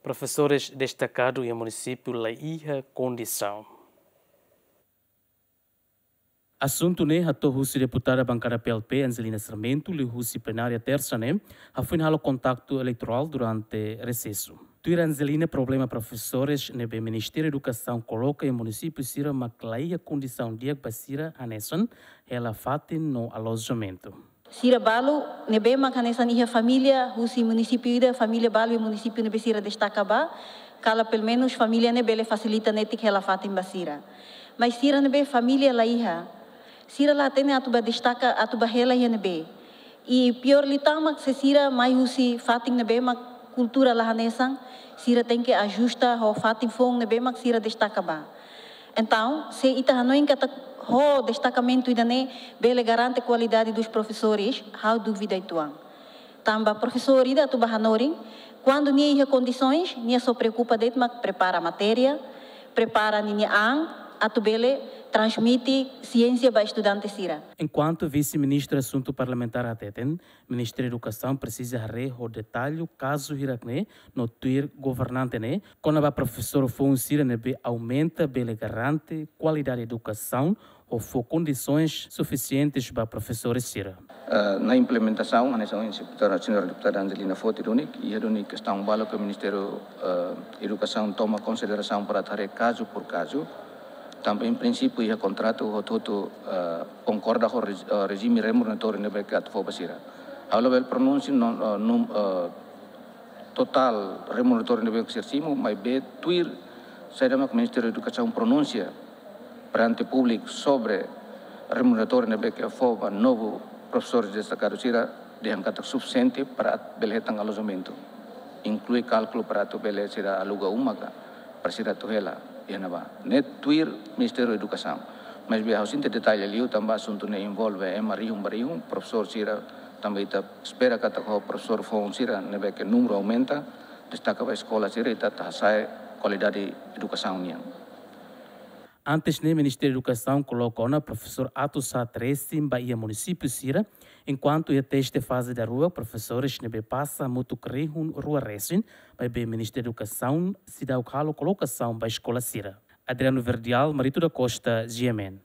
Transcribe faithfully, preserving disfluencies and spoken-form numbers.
Profesores destakadu iha munisípiu la iha kondisaun. Asuntu ne'e hato'o husi deputada bankada P L P Angelina Sarmento liuhusi plenária Tersa ne'e, hafoin halo kontaktu eleitorál durante resesu. Tuir Angelina, problema profesores ne'ebé Ministériu Edukasaun koloka iha munisípiu sira mak la iha kondisaun di'ak ba sira hanesan hela fatin no alojamentu. Sira balu ne'ebé mak hanesan iha família husi munisípiu ida, família balu iha munisípiu ne'ebé sira destaka ba, kala pelumenus família ne'e bele fasilita netik hela fatin ba sira. Mas sira ne'ebé família la iha, sira la hatene atu ba destaka, atu ba hela iha ne'ebé. I piór liután mak se sira mai husi fatin ne'ebé mak kultura la hanesan, sira tenke ajusta ho fatin foun ne'ebé mak sira destaka ba. Entaun, se ita hanoin katak ho destakamentu ida-ne'e bele garante kualidade dos profesores, ha'u dúvida uitoan. Tanba profesór ida atu ba hanorin, kuandu nia iha kondisoens, nia só preokupa de'it mak prepara matéria, prepara ninia an, atu bele transmite siénsia ba estudante sira. Enkuantu Vise-Ministra Asuntu Parlamentár hateten, Ministériu Edukasaun presiza haree ho detallu kazu hirak-ne'e no tuir governante ne'e, kona-ba profesór foun sira ne'ebé aumenta bele garante kualidade edukasaun ho fó kondisoens sufisientes ba profesores sira. Eh, na implementasaun, hanesan ohin deputada, señora deputada Angelina foti duni, iha duni kestaun balu ke Ministériu, eh, Edukasaun toma konsiderasaun para atu haree kazu por kazu. Tanba em princípio iha kontratu hotu-hotu, eh, konkorda ho rez-, eh, rejime remuneratóriu ne'ebé ke atu fó ba sira. Ha'u labele pronunsia no, eh, num-, eh, totál remuneratóriu ne'ebé ke sira simu, maibé tuir saida mak Ministériu Edukasaun pronunsia perante públiku sobre remuneratóriu ne'ebé ke fó ba novu profesores destakadu sira, dehan katak sufisiente para atu bele hetan alojamentu, inklui kálkulu para atu bele sira aluga uma ka, para sira atu hela iha ne'ebá. Ne'e tuir Ministériu Edukasaun. Maibé ha'u sente detalle liu tanba asuntu ne'e envolve ema rihun ba rihun, profesór sira, tanba ita espera katak ho profesór foun sira ne'ebé ke númeru aumenta, destaka ba eskola sira, ita atu hasa'e kualidade edukasaun nian. Antes ne'e Ministériu Edukasaun koloka ona profesór atus haat resin ba iha munisípiu sira, enkuantu iha teste faze daruak profesores ne'ebé pasa hamutuk rihun rua resin, maibé Ministériu Edukasaun seidauk halo kolokasaun ba eskola sira. Adriano Verdial, Marito da Costa, G M N.